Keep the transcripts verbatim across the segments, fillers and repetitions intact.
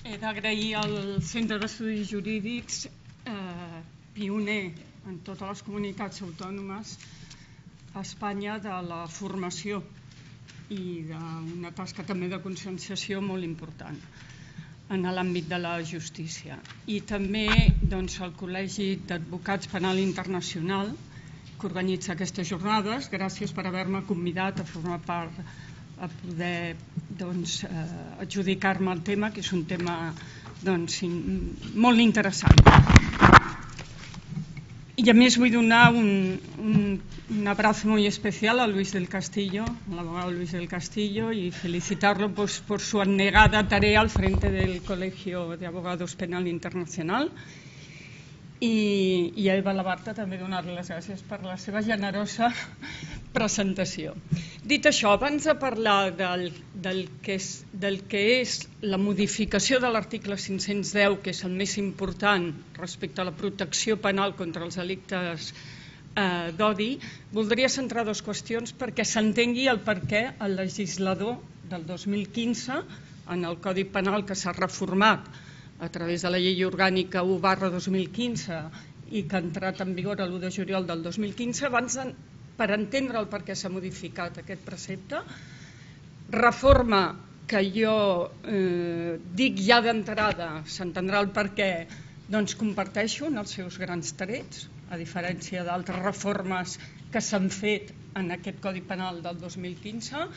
he d'agrair al Centre d'Estudis Jurídics, pioner en totes les comunitats autònomes a Espanya, de la formació i d'una tasca també de conscienciació molt important en l'àmbit de la justícia. I també al Col·legi d'Advocats Penal Internacional, que organitza aquestes jornades. Gràcies per haver-me convidat a formar part, a poder adjudicar-me el tema, que és un tema molt interessant. Y a més vull donar un, un, un abrazo muy especial a Luis del Castillo, al abogado Luis del Castillo, y felicitarlo pues, por su abnegada tarea al frente del Colegio de Abogados Penal Internacional. I, i a Eva Labarta també donar-li les gràcies per la seva generosa presentació. Dit això, abans de parlar del, del, que és, del que és la modificació de l'article cinc-cents deu, que és el més important respecte a la protecció penal contra els delictes eh, d'odi, voldria centrar dues qüestions perquè s'entengui el per què el legislador del dos mil quinze, en el Codi Penal que s'ha reformat a través de la llei orgànica u barra dos mil quinze i que ha entrat en vigor l'u de juliol del dos mil quinze, abans de, per entendre el per què s'ha modificat aquest precepte, reforma que jo eh, dic ja d'entrada, s'entendrà el per què, doncs comparteixo en els seus grans trets, a diferència d'altres reformes que s'han fet en aquest Codi Penal del dos mil quinze,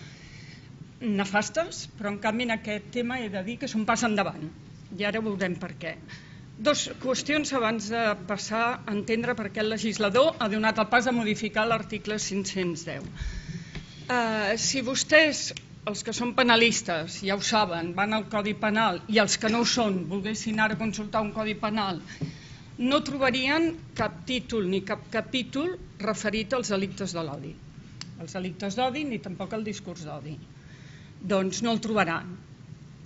nefastes, però en canvi en aquest tema he de dir que és un pas endavant. I ara veurem per què. Dos qüestions abans de passar a entendre per què el legislador ha donat el pas a modificar l'article cinc-cents deu. Eh, si vostès, els que són penalistes, ja ho saben, van al Codi Penal, i els que no ho són, volguessin ara consultar un Codi Penal, no trobarien cap títol ni cap capítol referit als delictes de l'odi. Els delictes d'odi ni tampoc el discurs d'odi. Doncs no el trobaran.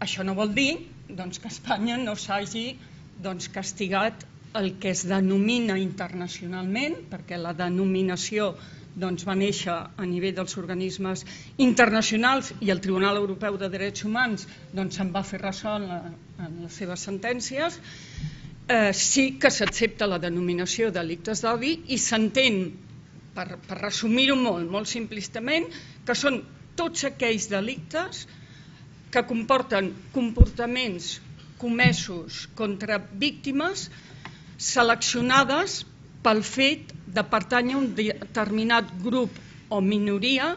Això no vol dir doncs, que Espanya no s'hagi doncs, castigat el que es denomina internacionalment, perquè la denominació doncs, va néixer a nivell dels organismes internacionals i el Tribunal Europeu de Drets Humans doncs, se'n va fer ressò en, la, en les seves sentències. Eh, sí que s'accepta la denominació de delictes d'odi i s'entén, per, per resumir-ho molt, molt simplistament, que són tots aquells delictes que comporten comportaments comesos contra víctimes seleccionades pel fet de pertànyer a un determinat grup o minoria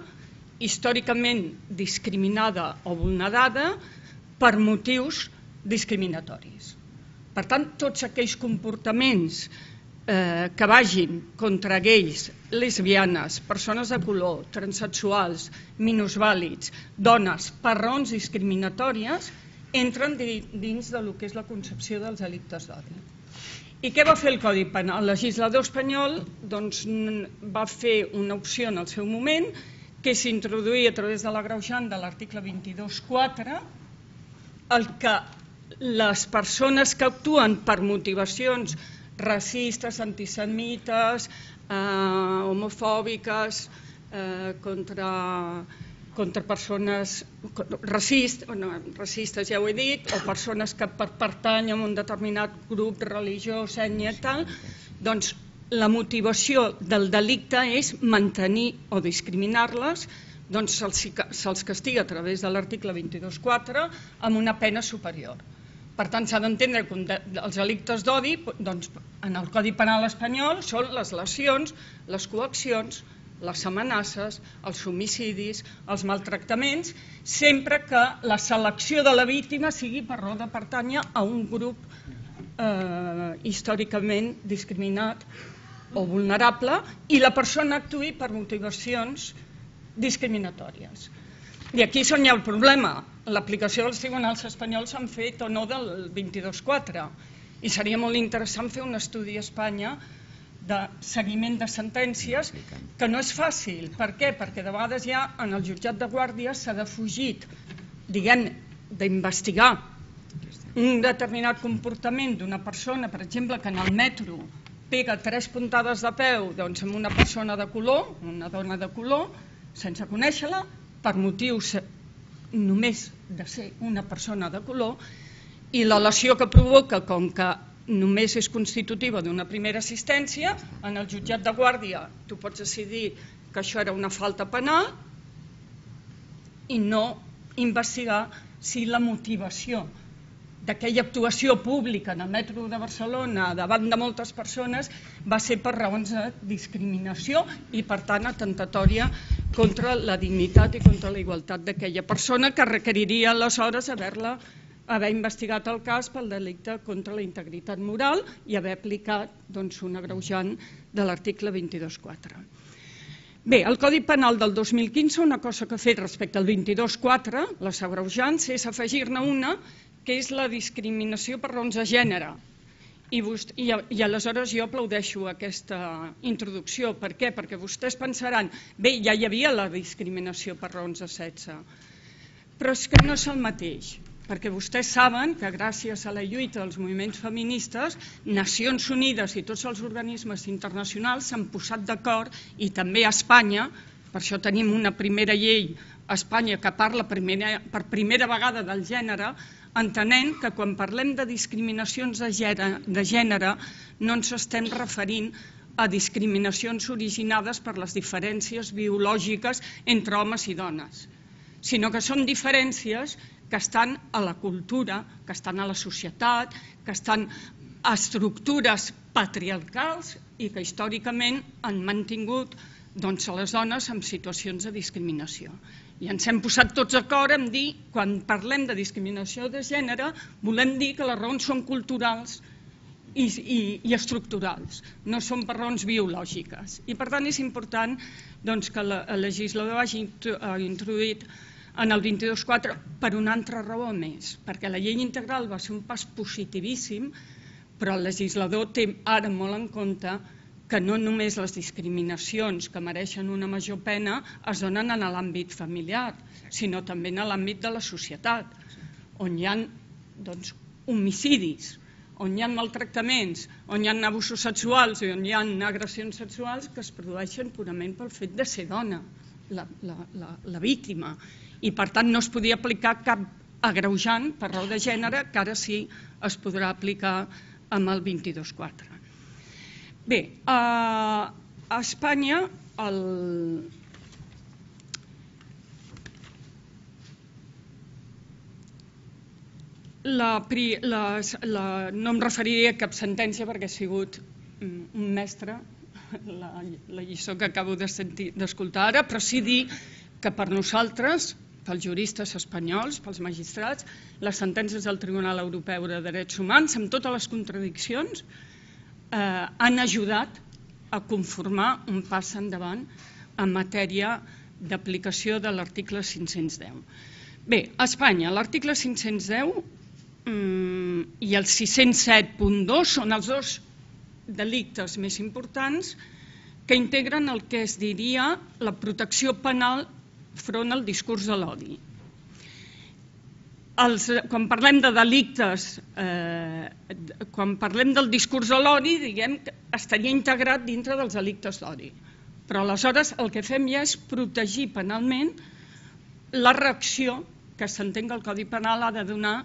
històricament discriminada o vulnerada per motius discriminatoris. Per tant, tots aquells comportaments eh, que vagin contra gais, lesbianes, persones de color, transsexuals, minusvàlids, dones, per raons discriminatòries, entren dins del que és la concepció dels delictes d'odi. I què va fer el Codi Penal? El legislador espanyol doncs, va fer una opció en el seu moment, que és introduir a través de l'agreujant de l'article vint-i-dos quatre el que les persones que actuen per motivacions racistes, antisemites, eh, homofòbiques, eh, contra... contra persones racistes, no, racistes ja ho he dit, o persones que per pertanyen a un determinat grup religiós, ètnic, tal, doncs la motivació del delicte és mantenir o discriminar-les, doncs se'ls castiga a través de l'article vint-i-dos quatre amb una pena superior. Per tant, s'ha d'entendre que els delictes d'odi, doncs, en el Codi Penal espanyol, són les lesions, les coaccions, les amenaces, els homicidis, els maltractaments, sempre que la selecció de la víctima sigui per raó de pertànyer a un grup eh, històricament discriminat o vulnerable i la persona actuï per motivacions discriminatòries. I aquí és on hi ha el problema. L'aplicació dels tribunals espanyols s'han fet o no del vint-i-dos quatre i seria molt interessant fer un estudi a Espanya de seguiment de sentències, que no és fàcil. Per què? Perquè de vegades ja en el jutjat de guàrdia s'ha defugit, diguem, d'investigar un determinat comportament d'una persona, per exemple, que en el metro pega tres puntades de peu doncs, amb una persona de color, una dona de color, sense conèixer-la, per motius només de ser una persona de color, I la lesió que provoca, com que només és constitutiva d'una primera assistència, en el jutjat de guàrdia tu pots decidir que això era una falta penal i no investigar si la motivació d'aquella actuació pública en el metro de Barcelona davant de moltes persones va ser per raons de discriminació i per tant atemptatòria contra la dignitat i contra la igualtat d'aquella persona, que requeriria aleshores haver-la haver investigat el cas pel delicte contra la integritat moral i haver aplicat doncs, un agreujant de l'article vint-i-dos quatre. Bé, el Codi Penal del dos mil quinze, una cosa que ha fet respecte al vint-i-dos quatre, les agreujants, és afegir-ne una que és la discriminació per raons de gènere. I, vostè, i, I aleshores jo aplaudeixo aquesta introducció. Per què? Perquè vostès pensaran, bé, ja hi havia la discriminació per raons de sexe, però és que no és el mateix. Perquè vostès saben que gràcies a la lluita dels moviments feministes, Nacions Unides i tots els organismes internacionals s'han posat d'acord, i també a Espanya, per això tenim una primera llei a Espanya que parla primera, per primera vegada del gènere, entenent que quan parlem de discriminacions de gènere, de gènere no ens estem referint a discriminacions originades per les diferències biològiques entre homes i dones, sinó que són diferències que estan a la cultura, que estan a la societat, que estan a estructures patriarcals i que històricament han mantingut doncs, a les dones en situacions de discriminació. I ens hem posat tots d'acord en dir, quan parlem de discriminació de gènere, volem dir que les raons són culturals i, i, i estructurals, no són per raons biològiques. I per tant és important doncs, que el legislador hagi introduït en el vint-i-dos quatre per una altra raó més, perquè la llei integral va ser un pas positivíssim, però el legislador té ara molt en compte que no només les discriminacions que mereixen una major pena es donen en l'àmbit familiar, sinó també en l'àmbit de la societat, on hi ha doncs, homicidis, on hi ha maltractaments, on hi ha abusos sexuals i on hi ha agressions sexuals que es produeixen purament pel fet de ser dona, la, la, la, la víctima. I per tant no es podia aplicar cap agreujant per raó de gènere, que ara sí es podrà aplicar amb el vint-i-dos quatre. Bé, a Espanya el... La, la, la, no em referiré a cap sentència perquè he sigut un mestre, la, la lliçó que acabo d'escoltar ara, però sí dir que per nosaltres, pels juristes espanyols, pels magistrats, les sentències del Tribunal Europeu de Drets Humans, amb totes les contradiccions, eh, han ajudat a conformar un pas endavant en matèria d'aplicació de l'article cinc-cents deu. Bé, a Espanya, l'article cinc-cents deu mm, i el sis-cents set punt dos són els dos delictes més importants que integren el que es diria la protecció penal front al discurs de l'odi. Quan parlem de delictes, eh, quan parlem del discurs de l'odi, diguem que estaria integrat dintre dels delictes d'odi. Però aleshores el que fem ja és protegir penalment la reacció que s'entén que el Codi Penal ha de donar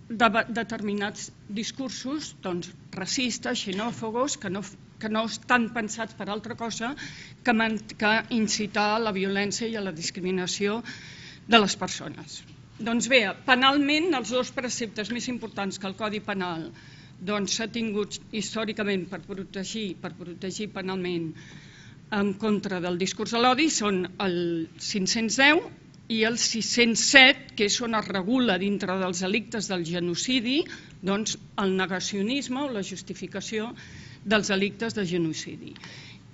de determinats discursos doncs, racistes, xenòfobos, que no que no estan pensats per altra cosa que, que incitar a la violència i a la discriminació de les persones. Doncs bé, penalment, els dos preceptes més importants que el Codi Penal s'ha tingut històricament per protegir, per protegir penalment en contra del discurs de l'odi són el cinc-cents deu i el sis-cents set, que és on es regula dintre dels delictes del genocidi doncs, el negacionisme o la justificació dels delictes de genocidi.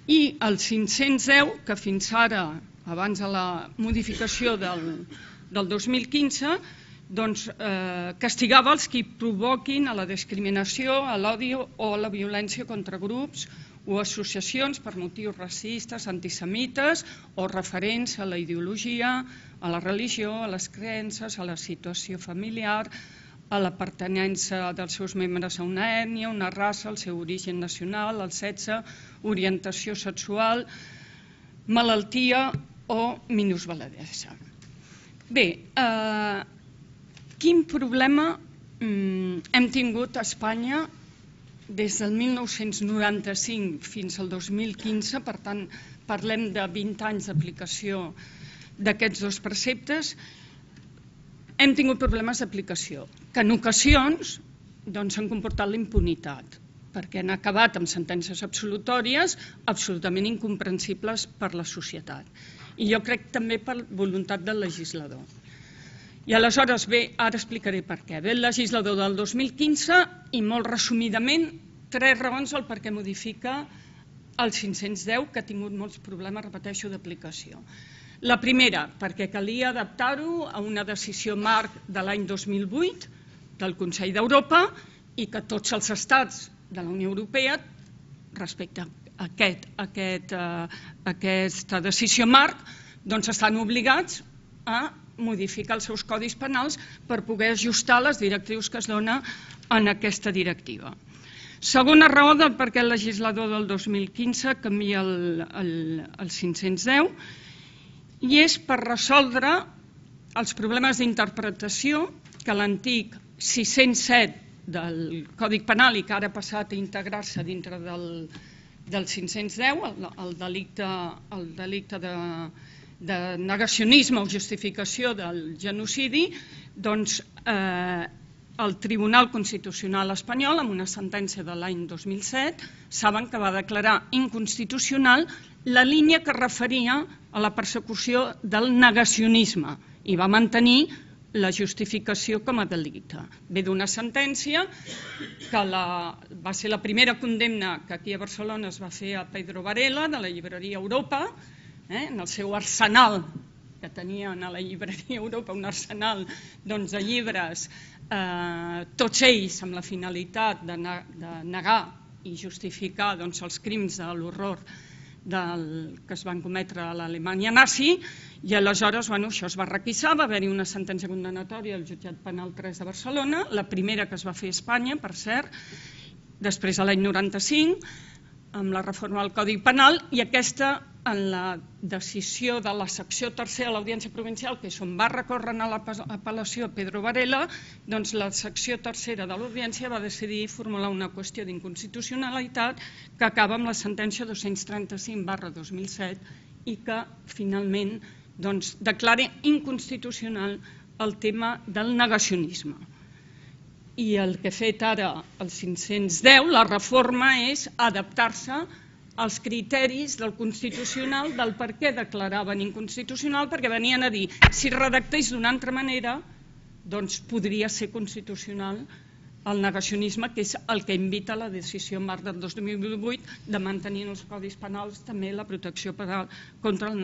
I el cinc-cents deu, que fins ara, abans de la modificació del, del dos mil quinze, doncs, eh, castigava els que provoquin a la discriminació, a l'odi o a la violència contra grups o associacions per motius racistes, antisemites o referents a la ideologia, a la religió, a les creences, a la situació familiar, a la pertinença dels seus membres a una ètnia, una raça, el seu origen nacional, el sexe, orientació sexual, malaltia o minusvaladesa. Bé, eh, quin problema hem tingut a Espanya des del mil nou-cents noranta-cinc fins al dos mil quinze, per tant parlem de vint anys d'aplicació d'aquests dos preceptes, hem tingut problemes d'aplicació, que en ocasions han comportat la impunitat, perquè han acabat amb sentències absolutòries absolutament incomprensibles per la societat. I jo crec també per voluntat del legislador. I aleshores, bé, ara explicaré per què. Ve el legislador del dos mil quinze i molt resumidament tres raons al per què modifica el cinc-cents deu, que ha tingut molts problemes, repeteixo, d'aplicació. La primera, perquè calia adaptar-ho a una decisió marc de l'any dos mil vuit del Consell d'Europa i que tots els estats de la Unió Europea, respecte a aquest, aquest, uh, aquesta decisió marc, doncs estan obligats a modificar els seus codis penals per poder ajustar les directrius que es donen en aquesta directiva. Segona raó del per què el legislador del dos mil quinze canvia el, el, el cinc-cents deu i és per resoldre els problemes d'interpretació que l'antic sis-cents set del Codi Penal i que ara ha passat a integrar-se dintre del, del cinc-cents deu, el, el delicte, el delicte de, de negacionisme o justificació del genocidi, doncs eh, el Tribunal Constitucional espanyol, amb una sentència de l'any dos mil set, saben que va declarar inconstitucional la línia que referia a la persecució del negacionisme i va mantenir la justificació com a delicte. Ve d'una sentència que la, va ser la primera condemna que aquí a Barcelona es va fer a Pedro Varela, de la llibreria Europa, eh, en el seu arsenal, que tenien a la llibreria Europa un arsenal doncs, de llibres, eh, tots ells amb la finalitat de, ne de negar i justificar doncs, els crims de l'horror del, que es van cometre a l'Alemanya nazi, i aleshores bueno, això es va requisar, va haver-hi una sentència condenatòria al Jutjat Penal tres de Barcelona, la primera que es va fer a Espanya, per cert, després de l'any noranta-cinc, amb la reforma del Codi Penal, i aquesta en la decisió de la secció tercera de l'Audiència Provincial, que és on va recórrer a l'apel·lació Pedro Varela, doncs la secció tercera de l'Audiència va decidir formular una qüestió d'inconstitucionalitat que acaba amb la sentència dos-cents trenta-cinc barra dos mil set i que finalment doncs, declara inconstitucional el tema del negacionisme. I el que ha fet ara el cinc-cents deu, la reforma, és adaptar-se als criteris del Constitucional del per què declaraven inconstitucional, perquè venien a dir, si redactés d'una altra manera, doncs podria ser constitucional el negacionisme, que és el que invita la decisió marc del dos mil vuit de mantenir en els codis penals també la protecció penal contra el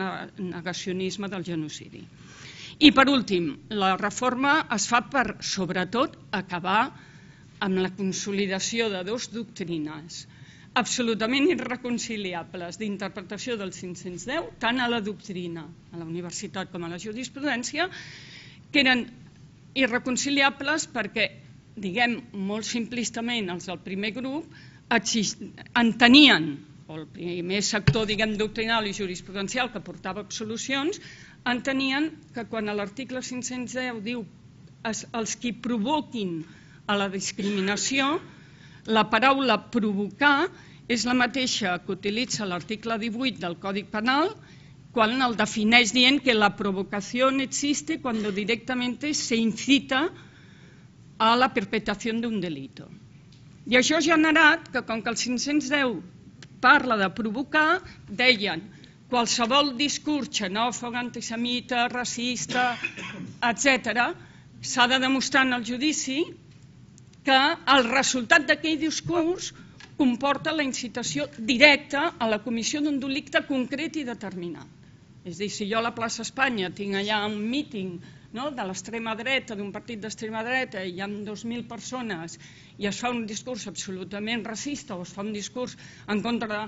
negacionisme del genocidi. I per últim, la reforma es fa per, sobretot, acabar amb la consolidació de dues doctrines absolutament irreconciliables d'interpretació del cinc-cents deu, tant a la doctrina, a la universitat com a la jurisprudència, que eren irreconciliables perquè, diguem molt simplistament, els del primer grup entenien, o el primer sector, diguem, doctrinal i jurisprudencial que portava absolucions, entenien que quan l'article cinc-cents deu diu els qui provoquin a la discriminació, la paraula provocar és la mateixa que utilitza l'article divuit del Codi Penal quan el defineix dient que la provocación existe cuando directamente se incita a la perpetración de un delito. I això ha generat que, com que el cinc-cents deu parla de provocar, deien qualsevol discurs xenòfob, antisemita, racista, etcètera, s'ha de demostrar en el judici que el resultat d'aquell discurs comporta la incitació directa a la comissió d'un delicte concret i determinat. És a dir, si jo a la plaça Espanya tinc allà un míting de l'extrema dreta, d'un partit d'extrema dreta, i hi ha dos mil persones i es fa un discurs absolutament racista o es fa un discurs en contra,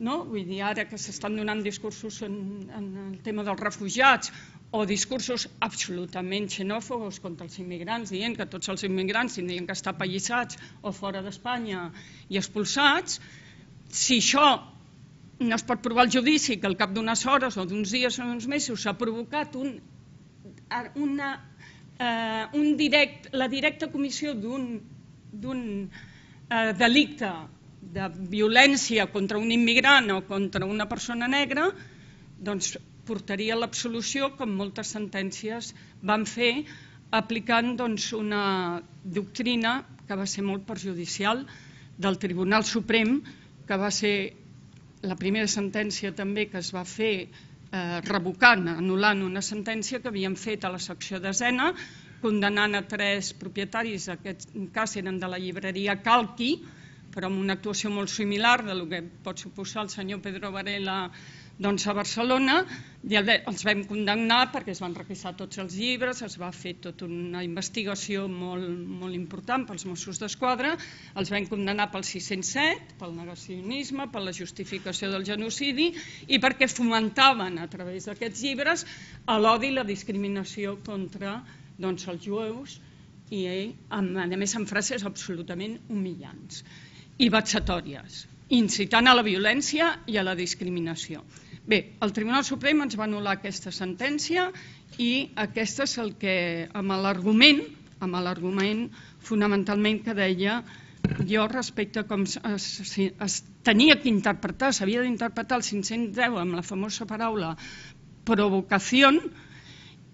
vull dir, ara que s'estan donant discursos en el tema dels refugiats o discursos absolutament xenòfobs contra els immigrants, dient que tots els immigrants tindrien que estar apallissats o fora d'Espanya i expulsats, si això no es pot provar al judici, que al cap d'unes hores o d'uns dies o d'uns mesos s'ha provocat una eh, un direct, la directa comissió d'un eh, delicte de violència contra un immigrant o contra una persona negra, doncs portaria a l'absolució, com moltes sentències van fer, aplicant doncs, una doctrina que va ser molt perjudicial del Tribunal Suprem, que va ser la primera sentència també que es va fer eh, revocant, anul·lant una sentència que havien fet a la secció desena, condenant a tres propietaris, aquest cas eren de la llibreria Calqui, però amb una actuació molt similar del que pot suposar el senyor Pedro Varela doncs, a Barcelona, i els vam condemnar perquè es van requisar tots els llibres, es va fer tota una investigació molt, molt important pels Mossos d'Esquadra, els vam condemnar pel sis cents set, pel negacionisme, per la justificació del genocidi i perquè fomentaven a través d'aquests llibres l'odi i la discriminació contra doncs, els jueus i a més amb frases absolutament humillants i vexatòries, incitant a la violència i a la discriminació. Bé, el Tribunal Suprem ens va anul·lar aquesta sentència i aquest és el que, amb l'argument, amb l'argument fonamentalment que deia jo respecte a com es, es, es tenia que interpretar, s'havia d'interpretar el cinc-cents deu amb la famosa paraula provocació,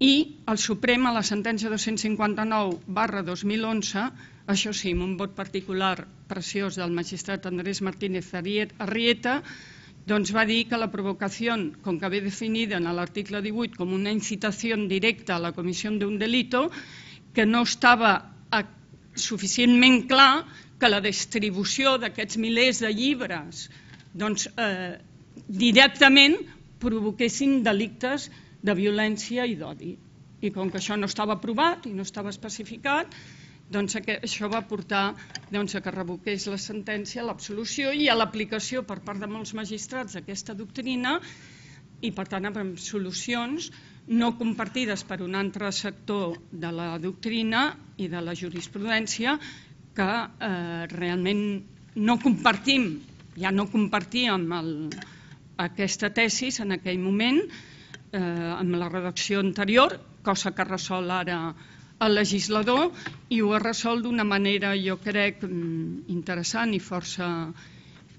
i el Suprem a la sentència dos-cents cinquanta-nou barra dos mil onze, això sí, amb un vot particular preciós del magistrat Andrés Martínez Arrieta, doncs va dir que la provocació, com que ve definida en l'article divuit com una incitació directa a la comissió d'un delito, que no estava suficientment clar que la distribució d'aquests milers de llibres doncs, eh, directament provoquessin delictes de violència i d'odi. I com que això no estava aprovat i no estava especificat, doncs això va portar doncs, a que revoqués la sentència, l'absolució i a l'aplicació per part de molts magistrats d'aquesta doctrina i per tant amb solucions no compartides per un altre sector de la doctrina i de la jurisprudència que eh, realment no compartim, ja no compartíem el, aquesta tesis en aquell moment eh, amb la redacció anterior, cosa que resol ara el legislador i ho ha resolt d'una manera, jo crec, interessant i força,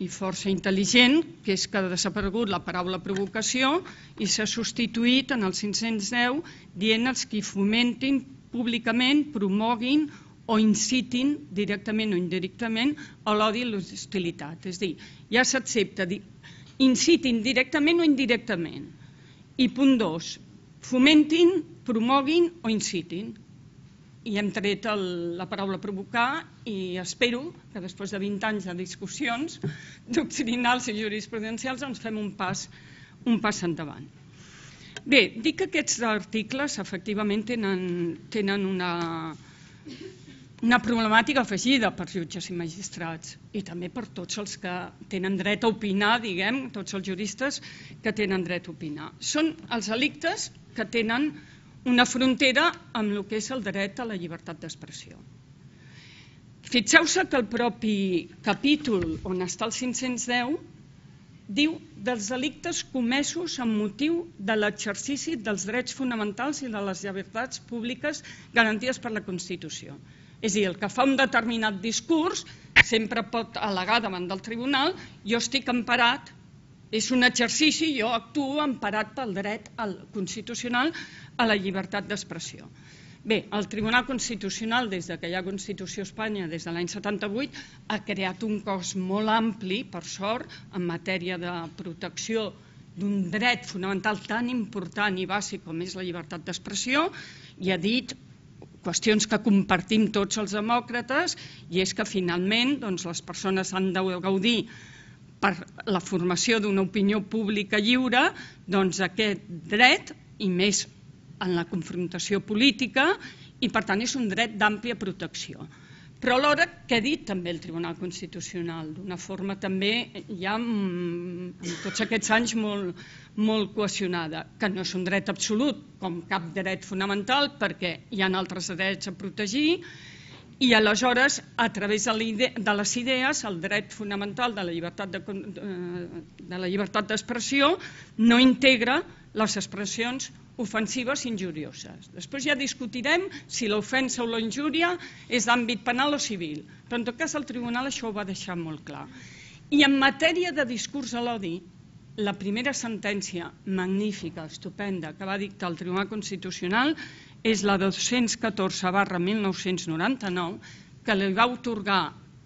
i força intel·ligent, que és que ha desaparegut la paraula provocació i s'ha substituït en el cinc-cents deu dient els qui fomentin públicament, promoguin o incitin directament o indirectament a l'odi i l'hostilitat. És a dir, ja s'accepta dir incitin directament o indirectament. I punt dos, fomentin, promoguin o incitin. I hem tret el, la paraula provocar i espero que després de vint anys de discussions doctrinals i jurisprudencials ens fem un pas, un pas endavant. Bé, dic que aquests articles efectivament tenen, tenen una, una problemàtica afegida per jutges i magistrats i també per tots els que tenen dret a opinar, diguem, tots els juristes que tenen dret a opinar. Són els delictes que tenen una frontera amb el que és el dret a la llibertat d'expressió. Fixeu-se que el propi capítol on està el cinc-cents deu diu dels delictes comesos amb motiu de l'exercici dels drets fonamentals i de les llibertats públiques garantides per la Constitució. És a dir, el que fa un determinat discurs sempre pot al·legar davant del tribunal jo estic emparat, és un exercici, jo actuo emparat pel dret constitucional a la llibertat d'expressió. Bé, el Tribunal Constitucional, des que hi ha Constitució a Espanya, des de l'any setanta-vuit, ha creat un cos molt ampli, per sort, en matèria de protecció d'un dret fonamental tan important i bàsic com és la llibertat d'expressió, i ha dit qüestions que compartim tots els demòcrates, i és que finalment doncs, les persones han de gaudir per la formació d'una opinió pública lliure, doncs aquest dret, i més en la confrontació política, i per tant és un dret d'àmplia protecció. Però alhora, què ha dit també el Tribunal Constitucional? D'una forma també ja en tots aquests anys molt, molt cohesionada, que no és un dret absolut, com cap dret fonamental, perquè hi ha altres drets a protegir, i aleshores, a través de les idees, el dret fonamental de la llibertat de la llibertat d'expressió no integra les expressions ofensives injurioses. Després ja discutirem si l'ofensa o la injúria és d'àmbit penal o civil, però en tot cas el tribunal això ho va deixar molt clar. I en matèria de discurs a l'odi, la primera sentència magnífica, estupenda, que va dictar el Tribunal Constitucional és la dos-cents catorze barra mil nou-cents noranta-nou, que li va atorgar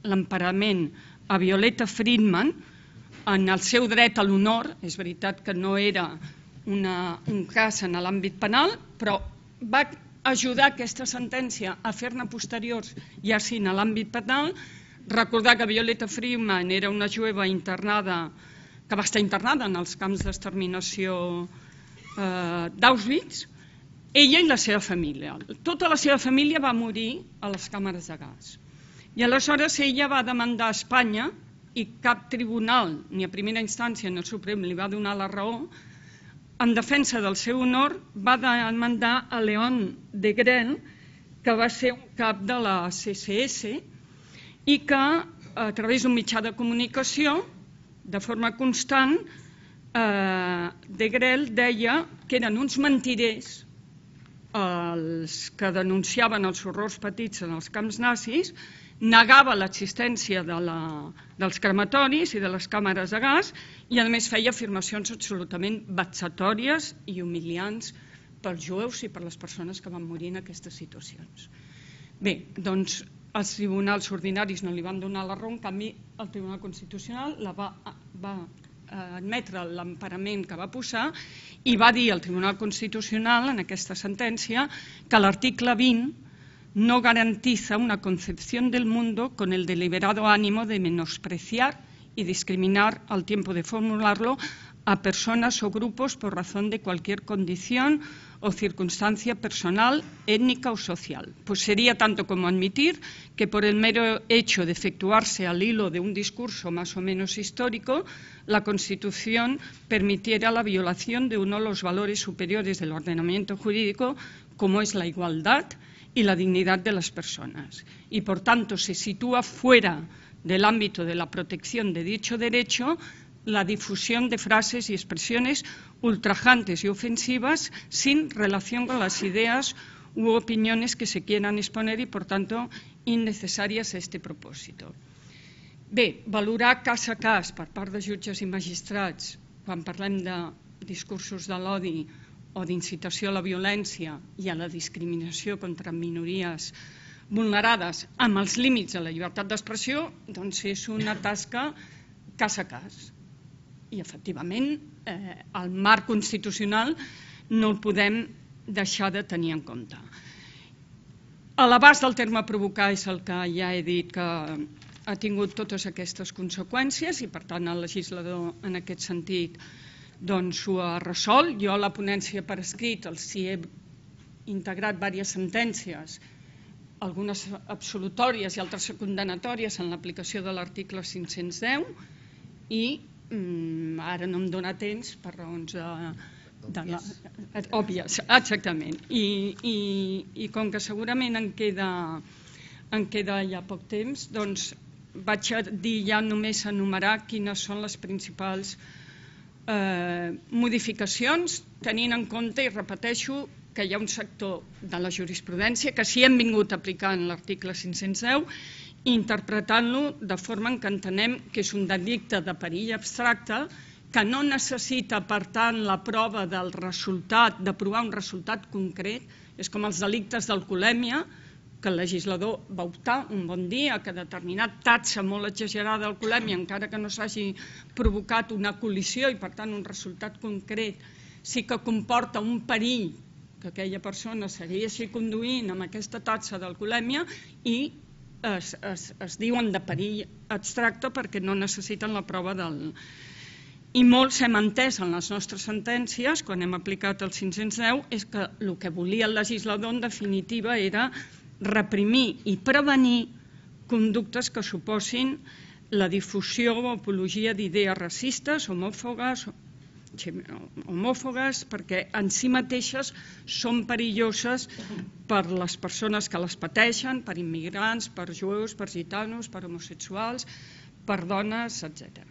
l'emparament a Violeta Friedman en el seu dret a l'honor. És veritat que no era una, un cas en l'àmbit penal, però va ajudar aquesta sentència a fer-ne posteriors, ja sí en l'àmbit penal. Recordar que Violeta Friedman era una jueva internada, que va estar internada en els camps d'exterminació eh, d'Auschwitz, ella i la seva família. Tota la seva família va morir a les càmeres de gas. I aleshores ella va demandar a Espanya, i cap tribunal, ni a primera instància ni al Suprem, li va donar la raó, en defensa del seu honor va demandar a León Degrelle, que va ser un cap de la C S S, i que a través d'un mitjà de comunicació, de forma constant, eh, Degrelle deia que eren uns mentirers els que denunciaven els horrors petits en els camps nazis, negava l'existència de la, dels crematoris i de les càmeres de gas i a més feia afirmacions absolutament vexatòries i humiliants pels jueus i per les persones que van morir en aquestes situacions. Bé, doncs els tribunals ordinaris no li van donar la raó, en canvi el Tribunal Constitucional la va, va admetre l'emparament que va posar i va dir al Tribunal Constitucional en aquesta sentència que l'article vint no garantiza una concepción del mundo con el deliberado ánimo de menospreciar y discriminar al tiempo de formularlo a personas o grupos por razón de cualquier condición o circunstancia personal, étnica o social. Pues sería tanto como admitir que por el mero hecho de efectuarse al hilo de un discurso más o menos histórico, la Constitución permitiera la violación de uno de los valores superiores del ordenamiento jurídico, como es la igualdad y la dignidad de las personas. Y por tanto se sitúa fuera del ámbito de la protección de dicho derecho la difusión de frases y expresiones ultrajantes y ofensivas sin relación con las ideas u opiniones que se quieran exponer y, por tanto, innecessàries a este propòsito. Bé, valorar cas a cas per part de jutges i magistrats quan parlem de discursos de l'odi o d'incitació a la violència i a la discriminació contra minories vulnerades amb els límits de la llibertat d'expressió, doncs és una tasca cas a cas. I, efectivament, eh, el marc constitucional no el podem deixar de tenir en compte. A l'abast del terme provocar és el que ja he dit que ha tingut totes aquestes conseqüències i, per tant, el legislador en aquest sentit doncs ho ha resolt. Jo a la ponència per escrit els hi he integrat diverses sentències, algunes absolutòries i altres condenatòries en l'aplicació de l'article cinc-cents deu i ara no em dóna temps per raons òbvies, exactament. I com que segurament en queda ja poc temps, doncs vaig a dir ja només enumerar quines són les principals modificacions, tenint en compte, i repeteixo, que hi ha un sector de la jurisprudència que sí hem vingut aplicant l'article cinc-cents deu interpretant-lo de forma en què entenem que és un delicte de perill abstracte que no necessita, per tant, la prova del resultat, de provar un resultat concret. És com els delictes d'alcoholèmia, que el legislador va optar un bon dia que determinat taxa molt exagerada d'alcoholèmia, encara que no s'hagi provocat una col·lisió i, per tant, un resultat concret, sí que comporta un perill que aquella persona segueixi conduint amb aquesta taxa d'alcoholèmia i Es, es, es diuen de perill abstracte perquè no necessiten la prova del... I molts hem entès en les nostres sentències, quan hem aplicat el cinc-cents deu, és que el que volia el legislador en definitiva era reprimir i prevenir conductes que suposin la difusió o apologia d'idees racistes, homòfogues, homòfogues, perquè en si mateixes són perilloses per les persones que les pateixen, per immigrants, per jueus, per gitanos, per homosexuals, per dones, etcètera.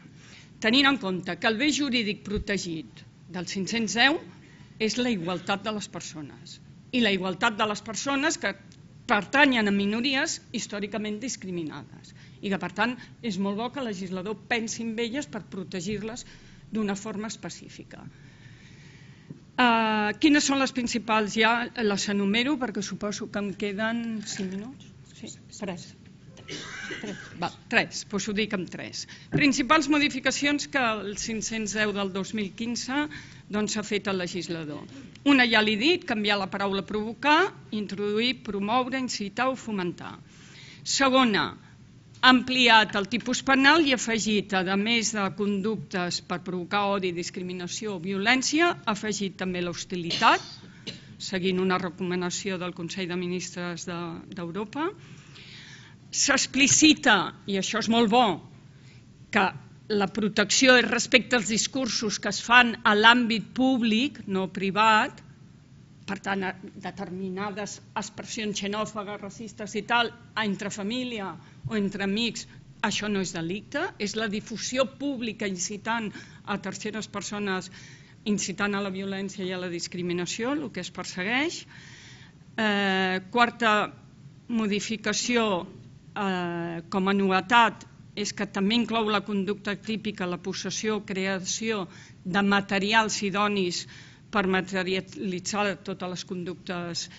Tenint en compte que el bé jurídic protegit del cinc-cents deu és la igualtat de les persones. I la igualtat de les persones que pertanyen a minories històricament discriminades. I que, per tant, és molt bo que el legislador pensi en elles per protegir-les d'una forma específica. Uh, quines són les principals? Ja les enumero perquè suposo que em queden cinc minuts. Sí, tres. Tres, va, tres, doncs ho dic amb tres. Principals modificacions que el cinc-cents deu del dos mil quinze doncs, ha fet el legislador. Una ja l'he dit, canviar la paraula provocar, introduir, promoure, incitar o fomentar. Segona, ha ampliat el tipus penal i ha afegit, a més de conductes per provocar odi, discriminació o violència, ha afegit també l'hostilitat, seguint una recomanació del Consell de Ministres d'Europa. S'explicita, i això és molt bo, que la protecció és respecte als discursos que es fan a l'àmbit públic, no privat, per tant, determinades expressions xenòfobes, racistes i tal, entre família o entre amics, això no és delicte, és la difusió pública incitant a terceres persones, incitant a la violència i a la discriminació, el que es persegueix. Eh, quarta modificació, eh, com a novetat, és que també inclou la conducta típica, la possessió o creació de materials idonis per materialitzar totes les conductes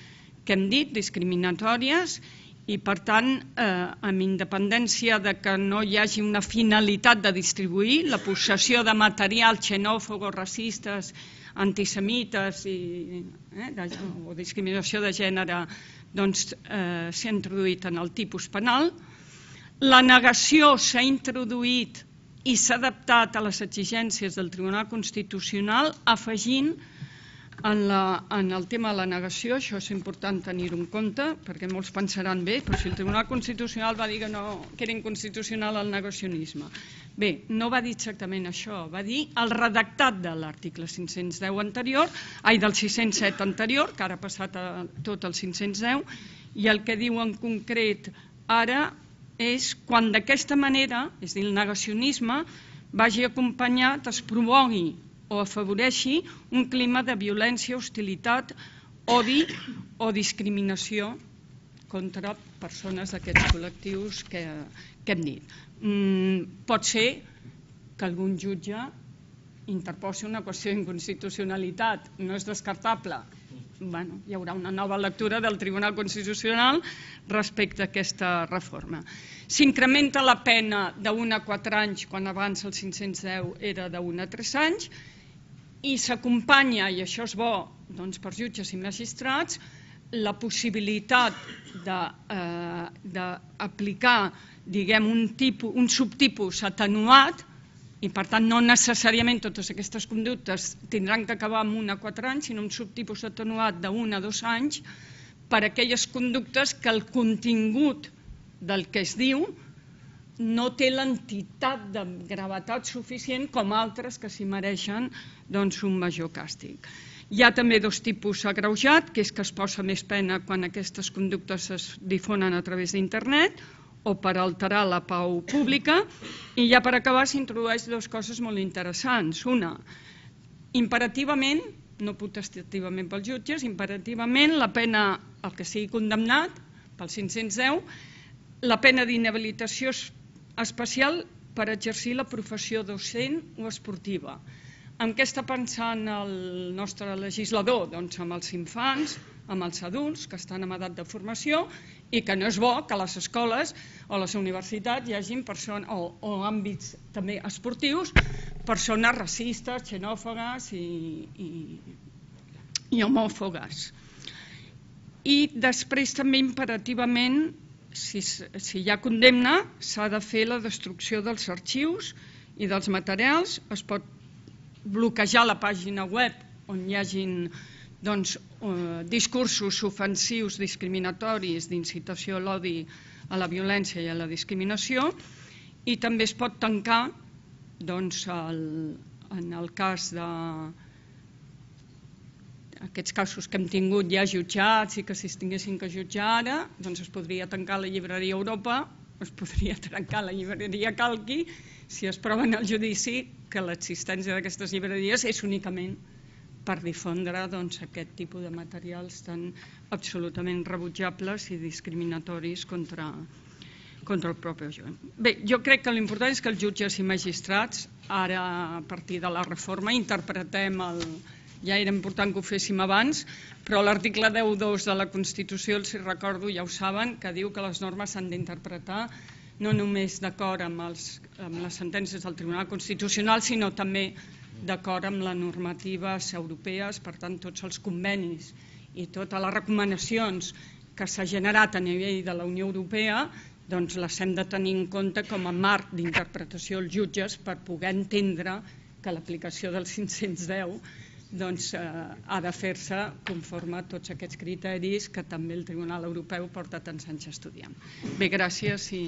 que hem dit, discriminatòries, i per tant, eh, amb independència de que no hi hagi una finalitat de distribuir, la possessió de materials xenòfobos, racistes, antisemites i, eh, de, o discriminació de gènere doncs, eh, s'ha introduït en el tipus penal. La negació s'ha introduït i s'ha adaptat a les exigències del Tribunal Constitucional, afegint en, la, en el tema de la negació, això és important tenir-ho en compte, perquè molts pensaran bé, però si el Tribunal Constitucional va dir que, no, que era inconstitucional el negacionisme. Bé, no va dir exactament això, va dir el redactat de l'article cinc-cents deu anterior, ai, del sis-cents set anterior, que ara ha passat a tot el cinc-cents deu, i el que diu en concret ara és quan d'aquesta manera, és a dir, el negacionisme, vagi acompanyat, es promogui o afavoreixi un clima de violència, hostilitat, odi o discriminació contra persones d'aquests col·lectius que, que hem dit. Mm, pot ser que algun jutge interposi una qüestió d'inconstitucionalitat, no és descartable. Bueno, hi haurà una nova lectura del Tribunal Constitucional respecte a aquesta reforma. S'incrementa la pena d'un a quatre anys, quan abans el cinc-cents deu era d'un a tres anys, i s'acompanya, i això és bo doncs, per jutges i magistrats, la possibilitat d'aplicar eh, diguem, un, tipus, un subtipus atenuat, i per tant no necessàriament totes aquestes conductes tindran que acabar amb un a quatre anys, sinó un subtipus atenuat d'un a dos anys per a aquelles conductes que el contingut del que es diu no té l'entitat de gravetat suficient com altres que s'hi mereixen doncs, un major càstig. Hi ha també dos tipus agreujat, que és que es posa més pena quan aquestes conductes es difonen a través d'internet o per alterar la pau pública, i ja per acabar s'introdueix dues coses molt interessants. Una, imperativament, no potestativament pels jutges, imperativament la pena, el que sigui condemnat pel cinc-cents deu, la pena d'inhabilitació especial per exercir la professió docent o esportiva. En què està pensant el nostre legislador? Doncs amb els infants, amb els adults que estan en edat de formació i que no és bo que a les escoles o a les universitats hi hagin persones, o, o àmbits també esportius, persones racistes, xenòfogues i, i, i homòfogues. I després també imperativament, si, si hi ha condemna, s'ha de fer la destrucció dels arxius i dels materials, es pot bloquejar la pàgina web on hi hagin doncs, eh, discursos ofensius, discriminatoris, d'incitació a l'odi, a la violència i a la discriminació, i també es pot tancar, doncs, el, en el cas de aquests casos que hem tingut ja jutjats i que si es tinguessin que jutjar ara, doncs es podria tancar la llibreria Europa, es podria tancar la llibreria Calqui, si es prova en el judici que l'existència d'aquestes llibreries és únicament per difondre aquest tipus de materials tan absolutament rebutjables i discriminatoris contra contra el propi jove. Bé, jo crec que l'important és que els jutges i magistrats, ara a partir de la reforma, interpretem el... ja era important que ho féssim abans, però l'article deu punt dos de la Constitució, els recordo, ja ho saben, que diu que les normes s'han d'interpretar no només d'acord amb, els, amb les sentències del Tribunal Constitucional, sinó també d'acord amb les normatives europees, per tant, tots els convenis i totes les recomanacions que s'ha generat a nivell de la Unió Europea, doncs les hem de tenir en compte com a marc d'interpretació als jutges per poder entendre que l'aplicació del cinc-cents deu doncs, eh, ha de fer-se conforme a tots aquests criteris que també el Tribunal Europeu porta tants anys estudiant. Bé, gràcies i...